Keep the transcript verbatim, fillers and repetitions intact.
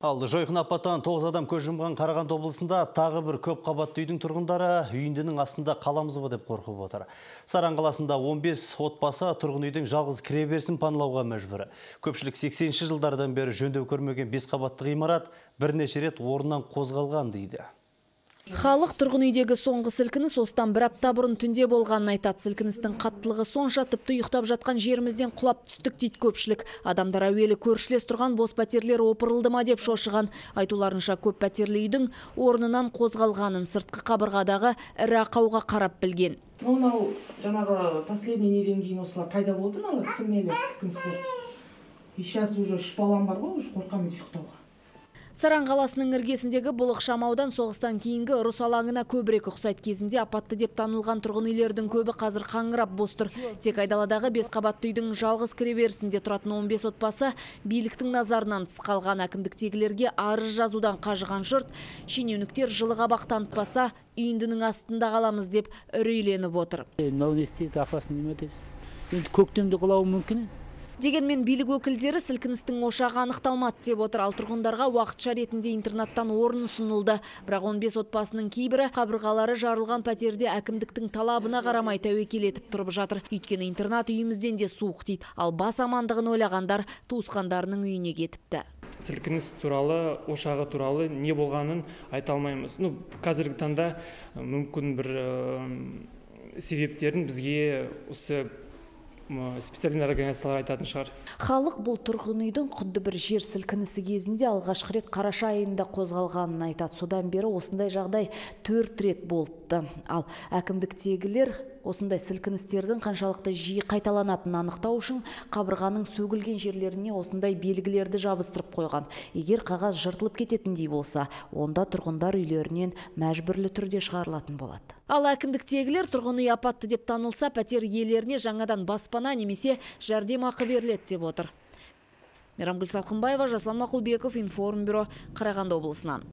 Ал жойқын апаттан тоғыз адам көз жұмған Қарағанды облысында тағы бір көп қабатты үйдің тұрғындары үйіндінің астында қаламыз ба деп қорқып отыр. Саран қаласында он бес отбасы тұрғын үйдің жалғыз кіреберісін паналауға мәжбүр. Көпшілік сексенінші жылдардан бері жөндеу көрмеген бес қабатты ғимарат бірнеше рет орнынан қозғалған дейді. Халық тұрғын үйдегі соңғы сілкініс осыдан бір апта бұрын түнде болғанын айтады. Сілкіністің қаттылығы сонша тіпті ұйықтап жатқан жерімізден құлап түстік дейді көпшілік. Адамдар әуелі көршілес тұрған бос пәтерлер опырылды ма деп шошыған. Айтуларынша көп пәтерлі үйдің орнынан қозғалғанын сыртқы қабырғадағы ірі ақауға қарап білген. Мынау жаңағы последний неден кейін осылар пайда болды, мыналар сілнелер, сілкіністер. И сейчас уже үш балам бар ғой, уже қорқамыз ұйықтауға. Саран қаласының іргесіндегі бұл ықшамаудан соғыстан кейінгі ұрыс алаңына көбірек ұқсайды. Кезінде апатты деп танылған тұрғын үйлердің көбі қазір қаңырап бос тұр. Тек айдаладағы бес қабатты үйдің жалғыз кіреберісінде тұратын он бес отбасы биліктің назарынан тыс қалған. Әкімдіктегілерге арыз жазудан қажыған жұрт, шенеуніктер жылы қабақ танытпаса үйіндінің астында қаламыз деп үрейленіп отыр. Көктемде құлауы мүмкін. Дегенмен билік өкілдері сілкіністің ошағы анықталмады деп отыр. Ал тұрғындарға уақытша ретінде интернаттан орын ұсынылды. Бірақ он бес отбасының кейбірі қабырғалары жарылған пәтерде әкімдіктің талабына қарамай тәуекел етіп тұрып жатыр. Өйткені интернат үйімізден де суық дейді. Ал бас амандығын ойлағандар туысқандарының үйіне кетіпті. Сілкініс туралы, ошағы туралы не болғанын айта алмаймыз. Ну, қазіргі таңда мүмкін бір себептерін бізге осы специализированный организациялар айтатын шығар. Халық бұл тұрғын үйдің құдды бір жер сілкінісі кезінде алғашқы рет қараша айында қозғалғанын айтады. Содан бері осындай жағдай төрт рет болыпты. Ал әкімдіктегілер осындай сілкіністердің қаншалықты жиі қайталанатынын анықтау үшін қабырғаның сөгілген жерлеріне осындай белгілерді жабыстырып қойған. Егер қағаз жыртылып кететіндей болса, онда тұрғындар үйлерінен мәжбүрлі түрде шығарылатын болады. Ал әкімдіктегілер тұрғын үй апатты деп танылса, пәтер иелеріне жаңадан баспана немесе жәрдемақы беріледі деп отыр. Мейрамгүл Салқынбаева, Жасұлан Мақұлбеков, Информбюро, Қарағанды облысынан.